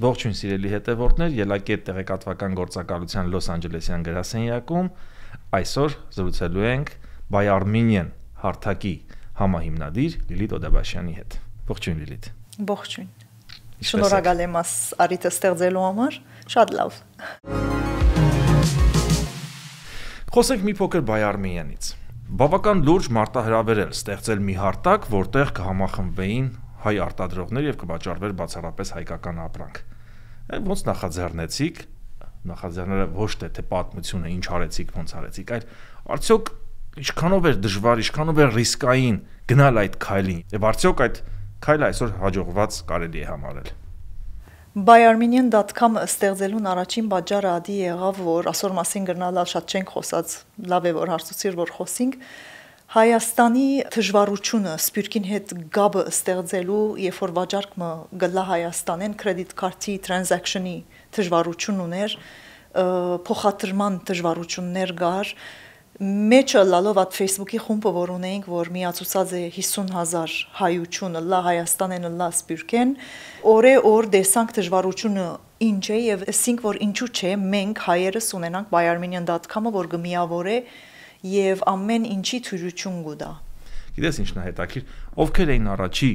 Ողջույն սիրելի հետևորդներ, ելակետ տեղեկատվական գործակալության Լոս Անջելեսյան գրասենյակում այսօր զրուցելու ենք Buy Armenian հարթակի համահիմնադիր Լիլիթ Օդաբաշյանի հետ։ Ողջույն Լիլիթ։ Ողջույն։ Շնորհակալ եմ արիթը ստեղծելու համար, շատ լավ։ Խոսենք մի փոքր Buy Armenianից։ Բավական լուրջ մարտահրավեր էր ստեղծել մի հարթակ, որտեղ կհամախմբվեին հայ արտադրողներ եւ կվաճառվեր բացառապես հայկական ապրանք։ Ոնց նախաձեռնեցիք, նախաձեռները ոչ թե պատմությունը ինչ արեցիք, ոնց արեցիք, այլ արդյոք ինչքանով էր դժվար, ինչքանով էր ռիսկային գնալ այդ քայլին, եւ արդյոք այդ քայլը այսօր հաջողված կարելի է համարել։ BuyArmenian.com-ը ստեղծելուն առաջին պատճառը ադի եղավ, որ այսօր մասին գրնալալ շատ չենք խոսած, լավ է որ հարցուցիր որ խոսենք, Հայաստանի դժվարությունը սպյուրքին հետ գաբը ստեղծելու, երբ որ վաճառքը գլա Հայաստանեն credit card-ի transaction-ի դժվարություն ուներ, փոխադրման դժվարություններ կար, մեջը լալով այդ Facebook-ի խումբը որ ունեինք, որ միացուցած է 50,000 հայությունը լա Հայաստանեն լա սպյուրքեն, օր դեսանք դժվարությունը ինչ է եւ ասինք որ ինչու չէ մենք հայերս ունենանք BuyArmenian.com-ը որ գմիավորե եւ ամեն ինչի թյուրություն գուտա։ Գիտես ինչն է հետաքրքիր, ովքեր էին առաջի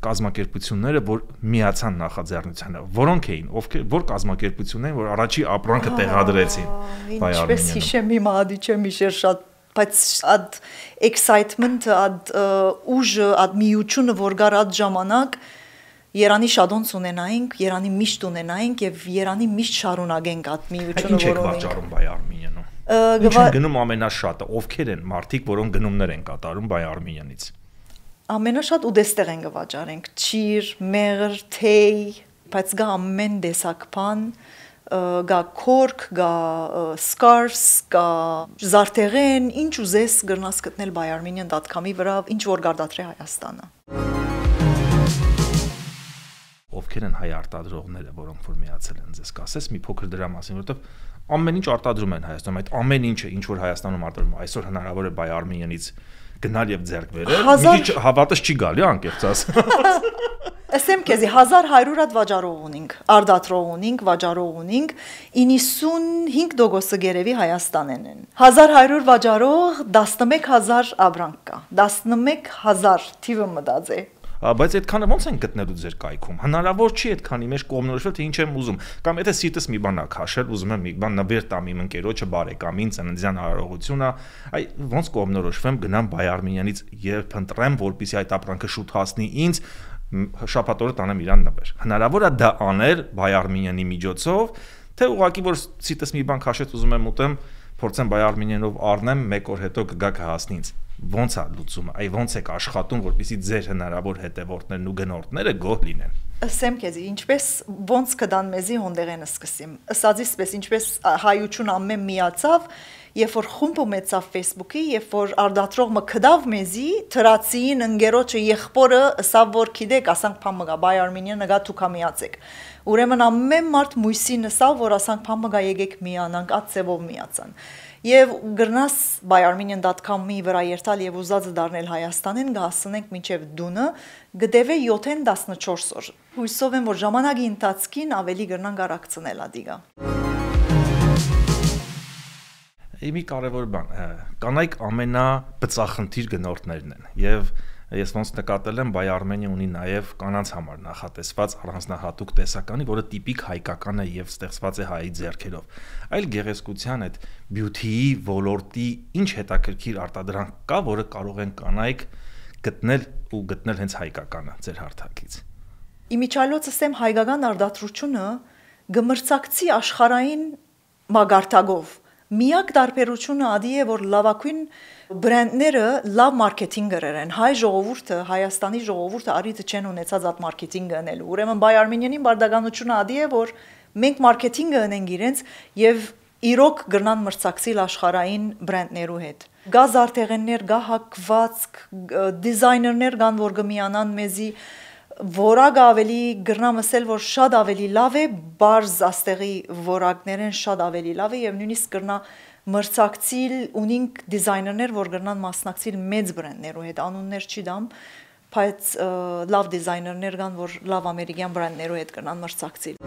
կազմակերպությունները, որ միացան նախաձեռնությանը, որոնք էին, որ կազմակերպություններ, որ առաջի ապրանքը տեղադրեցին։ Ինչպես հիշեմ հիմա ադի չեմ հիշեր շատ, բայց այդ excitement, այդ ուժը, այդ միությունը, որ գար այդ ժամանակ Երանի շադոնց ունենայինք, Երանի միշտ ունենայինք եւ Երանի միշտ շարունակենք այդ միությունը, որ ունենք։ Ինչ եք վաճառում BuyArmenian-ում։ Ինչ են գնում ամենաշատը, ովքեր են մարդիկ, որոնք գնումներ են կատարում BuyArmenian-ից։ Ամենաշատ ուդեստեղ են գվաճառենք, ճիր, մեղր, թեյ, բայց գա ամեն տեսակ բան, գա քորք, գա scarves, գա զարդեղեն, ինչ ուզես գրնաս գտնել BuyArmenian.com-ի վրա, ինչ որ գարդատրե Հայաստանը։ Ովքեր են հայ արտադրողները, որոնք որ միացել են, ձեզ կասես մի փոքր դրա մասին, որովհետև ամեն ինչ արտադրում են Հայաստանում, այդ ամեն ինչը, ինչ որ Հայաստանում արտադրում, այսօր հնարավոր է BuyArmenian-ից գնալ եւ ձեռք բերել։ Մի քիչ հավատս չի գալի, անկեղծ ասած։ Ասեմ քեզի 1100 հատ վաճառող ունենք, արտադրող ունենք, վաճառող ունենք, 95% գերեւի Հայաստանեն են։ 1100 վաճառող, 11000 ապրանք կա։ 11000 թիվը մտած է։ Բայց այդքանը ո՞նց են գտնելու ձեր կայքում։ Հնարավոր չի այդքանի մեջ կողմնորոշվել, թե ինչ եմ ուզում։ Կամ եթե սիրտս մի բան ա քաշել, ուզում եմ մի բան նվեր տամ իմ ընկերոջը, բարեկամին, ծննդյան արարողությունա, այ ոնց կողմնորոշվեմ, գնամ BuyArmenian-ից եւ փնտրեմ, որպեսզի այդ ապրանքը շուտ հասնի ինձ, շաբաթօրը տանեմ իրան նվեր։ Հնարավոր է դա անել BuyArmenian-ի միջոցով, թե ուղղակի որ սիրտս մի բան քաշեց, ուզում եմ ուտեմ, փորձեմ BuyArmenian-ով առնեմ, 1 օր հետո կգա կհասնի ինձ։ Ոնց է լուծումը, այ ոնց եք աշխատում, որպեսզի ձեր հնարավոր հետևորդներն ու գնորդները գոհ լինեն։ Ասեմ քեզի, ինչպես ոնց կդան մեզի հոնդերենը սկսեմ։ Ասածիսպես ինչպես հայություն ամեն միացավ, երբ որ խումբը մեծավ Facebook-ի, երբ որ արտադրողը կդավ մեզի, թրացին ընկերոջը եղբորը, ասավ որ գիտեք, ասանք փամգա BuyArmenian-ը գա դուք միացեք։ Ուրեմն ամեն մարդ մույսին ասավ, որ ասանք փամգա եկեք միանանք, այդ ծևով միացան։ Եվ գրնաս BuyArmenian.com-ի վրա երթալ եւ ուզածը դառնել Հայաստանին գահսնենք մինչեւ դունը գդեվե 7-14 օր։ Հույսով եմ որ ժամանակի ընթացքին ավելի գրնան գարակցնել ադիգա։ Մի կարևոր բան, կանայք ամենաբծախնդիր գնորդներն են եւ ես ոնց նկատել եմ BuyArmenian ունի նաեւ կանանց համար նախատեսված առանձնահատուկ տեսականի, որը տիպիկ հայկական է եւ ստեղծված է հայի ձեռքերով։ Այլ գեղեցկության այդ beauty-ի ոլորտի ինչ հետաքրքիր արտադրանք կա, որը կարող են կանայք գտնել ու գտնել հենց հայկականը ձեր հարթակից։ Իմիջիայլոց ասեմ հայկական արտադրությունը գմրցակցի աշխարհային մագարտագով Միակ տարբերությունը ադի է որ լավագույն բրենդները լավ մարքեթինգ գրեն հայ ժողովուրդը Հայաստանի ժողովուրդը արիթ չեն ունեցած այդ մարքեթինգը անելու ուրեմն BuyArmenian-ի բարդականությունը ադի է որ մենք մարքեթինգը անենք իրենց եւ իրոք գրնան մրցակցիլ աշխարհային բրենդներու հետ գա զարդեղեններ գա հակվածք դիզայներներ կան որ գմիանան մեզի Որակը ավելի գրնամ ասել, որ շատ ավելի լավ է, բարձ աստեղի որակներեն շատ ավելի լավ է եւ նույնիսկ գրնա մրցակցիլ ունինք դիզայներներ, որ գրնան մասնակցիլ մեծ բրենդներու հետ, անուններ չի դամ, բայց լավ դիզայներներ կան, որ լավ ամերիկյան բրենդներով հետ կնան մրցակցել։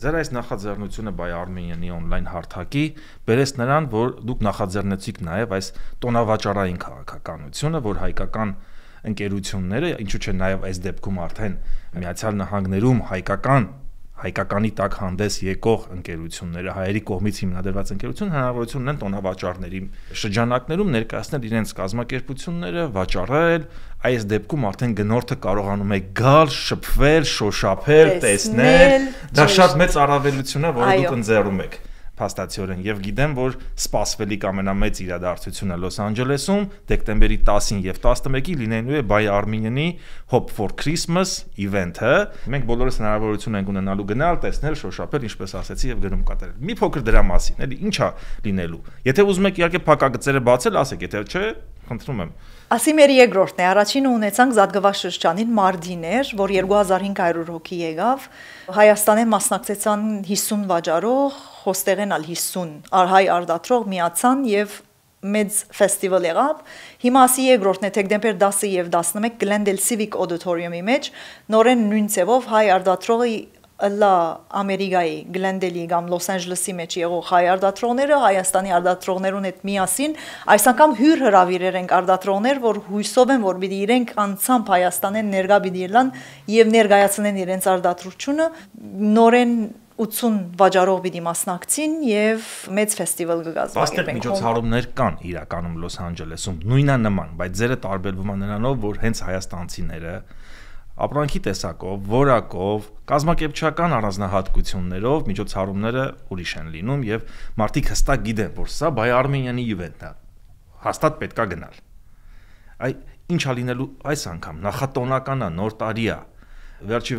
Ձեր այս նախաձեռնությունը Buy Armenian-ի on-line հարթակի բերեց նրան, որ դուք նախաձեռնեցիք նաև այս տոնավաճառային քաղաքականությունը, որ հայկական ընկերությունները, ինչու՞ չէ նաև այս դեպքում արդեն Միացյալ Նահանգներում հայկականի տակ հանդես եկող ընկերությունները, հայերի կողմից հիմնադրված ընկերություն հնարավորություն ունեն տոնավաճառների շրջանակներում ներկայացնել իրենց կազմակերպությունները, վաճառել, այս դեպքում արդեն գնորդը կարողանում է գալ, շփվել, շոշափել, տեսնել, դա շատ մեծ առավելություն է, որը դուք ընձեռում եք փաստացիորեն եւ գիտեմ, որ սպասվելիք ամենամեծ իրադարձությունը Լոս Անջելեսում դեկտեմբերի 10-ին եւ 11-ին լինելու է Buy Armenian-ի Hope for Christmas event-ը։ Մենք բոլորս հնարավորություն ենք ունենալու գնալ, տեսնել, շոշափել, ինչպես ասեցի, եւ գնում կատարել։ Մի փոքր դրա մասին, էլի ինչա լինելու։ Եթե ուզում եք իհարկե փակագծերը բացել, ասեք, եթե չէ, խնդրում եմ։ Ասի մեր երկրորդն է, առաջինը ունեցանք Զատկվա շրջանին մարտիներ, որ 2500 հոգի եկավ, Հայաստանեն մասնակցեցան 50 վաճառող, հոստեղեն ալ 50 հայ արդատրող միացան եւ մեծ ֆեստիվալ եղավ։ Հիմա ասի երկրորդն է, դեկտեմբեր 10-ը եւ 11 Glendale Civic Auditorium-ի մեջ նորեն նույն ձևով հայ արդատրողի Ըլլա Ամերիկայի Գլենդելի կամ Լոս Անջելեսի մեջ եղող հայ արդատրողները Հայաստանի արդատրողներուն հետ միասին այս անգամ հյուր հրավիրեր ենք արդատրողներ, որ հույսով են, որ պիտի իրենք անցամբ Հայաստանեն ներկա պիտի ելան եւ ներկայացնեն իրենց արդատրությունը, նորեն 80 վաճառող պիտի մասնակցին եւ մեծ ֆեստիվալ կգազմագերբենք։ Միջոցառումներ կան իրականում Լոս Անջելեսում, նույնանման, բայց ձերը տարբերվում է նրանով, որ հենց հայաստանցիները ապրանքի տեսակով, որակով, կազմակերպչական առանձնահատկություններով միջոցառումները ուրիշ են լինում եւ մարդիկ հստակ գիտեն, որ սա Buy Armenian-ի իվենթն է։ Հաստատ պետքա գնալ։ Այ ինչա լինելու այս անգամ, նախատոնական է, նոր տարի է։ Վերջի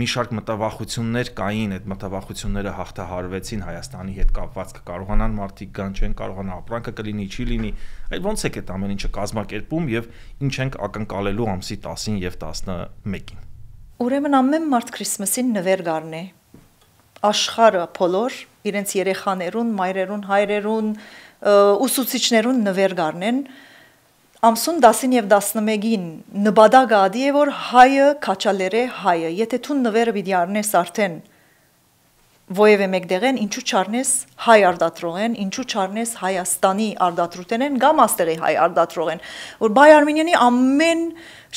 մի շարք մտավախություններ կային, այդ մտավախությունները հաղթահարվեցին Հայաստանի հետ կապված, կկարողանան մարդիկ գան, չեն կարողանա, ապրանքը կլինի, չի լինի։ Այ ոնց է այդ ամեն ինչը կազմակերպում եւ ինչ ենք ակնկալելու ամսի 10-ին եւ 11-ին։ Ուրեմն ամեն մարդ Քրիսմասին նվեր գարնե։ Աշխարհը բոլոր իրենց երեխաներուն, մայրերուն, հայրերուն, ուսուցիչներուն նվեր գարնեն։ Ամսուն 10-ին եւ 11-ին նպատակը ադի է, որ հայը քաչալերե հայը, եթե դու նվերը պիտի առնես արդեն ովևէ մեկդեղեն, ինչու չառնես հայ արդատրողեն, ինչու չառնես Հայաստանի արդատրութենեն կամ աստեղի հայ արդատրողեն, որ Buy Armenian-ի ամեն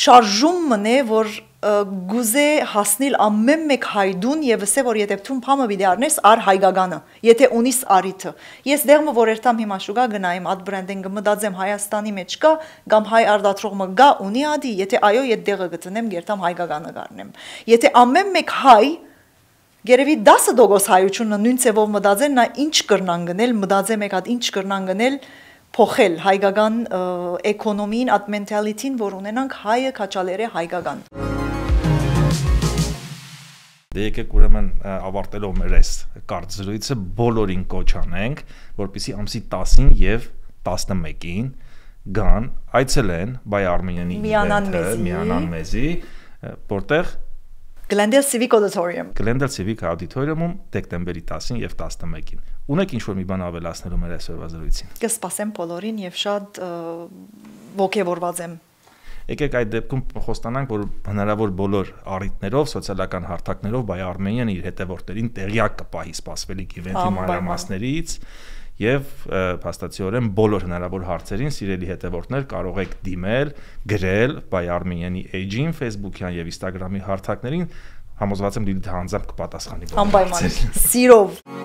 շարժումն է, որ գուզե հասնել ամեն մեկ հայդուն եւ ասե որ եթե դու փամը պիտի առնես ար հայկականը, եթե ունիս արիթը։ Ես դերմը որ երթամ հիմա շուկա գնայեմ ad branding-ը մտածեմ Հայաստանի մեջ կա կամ հայ արդատրողը գա ունի ադի, եթե այո, այդ դեղը գտնեմ, երթամ հայկականը գարնեմ։ Եթե ամեն մեկ հայ Գերեւի 10% հայությունը նույն ցևով մտածեն, նա ինչ կրնան գնել, մտածեմ եկած ինչ կրնան գնել, փոխել հայկական էկոնոմին, այդ մենթալիտին, որ ունենանք հայը քաչալերե հայկական։ Դե եկեք ուրեմն ավարտելով մեր այս կարճ զրույցը բոլորին կոչ անենք, որպեսզի ամսի 10-ին եւ 11-ին գան, այցելեն Buy Armenian-ի միանան մեզի, որտեղ Glendale Civic Auditorium։ Glendale Civic Auditorium-ում դեկտեմբերի 10-ին եւ 11-ին։ Ունեք ինչ-որ մի բան ավելացնելու մեր այսօրվա զրույցին։ Կսպասեմ բոլորին եւ շատ ողջավորված եմ։ Եկեք այդ դեպքում խոստանանք, որ հնարավոր բոլոր առիթներով, սոցիալական հարթակներով Buy Armenian իր հետևորդներին տեղյակ կպահի սպասվելիք իվենթի մանրամասներից եւ փաստացիորեն բոլոր հնարավոր հարցերին սիրելի հետևորդներ կարող եք դիմել, գրել Buy Armenian-ի էջին, Facebook-յան եւ Instagram-ի հարթակներին, համոզված եմ Լիլիթը անձամբ կպատասխանի։ Անպայման, սիրով։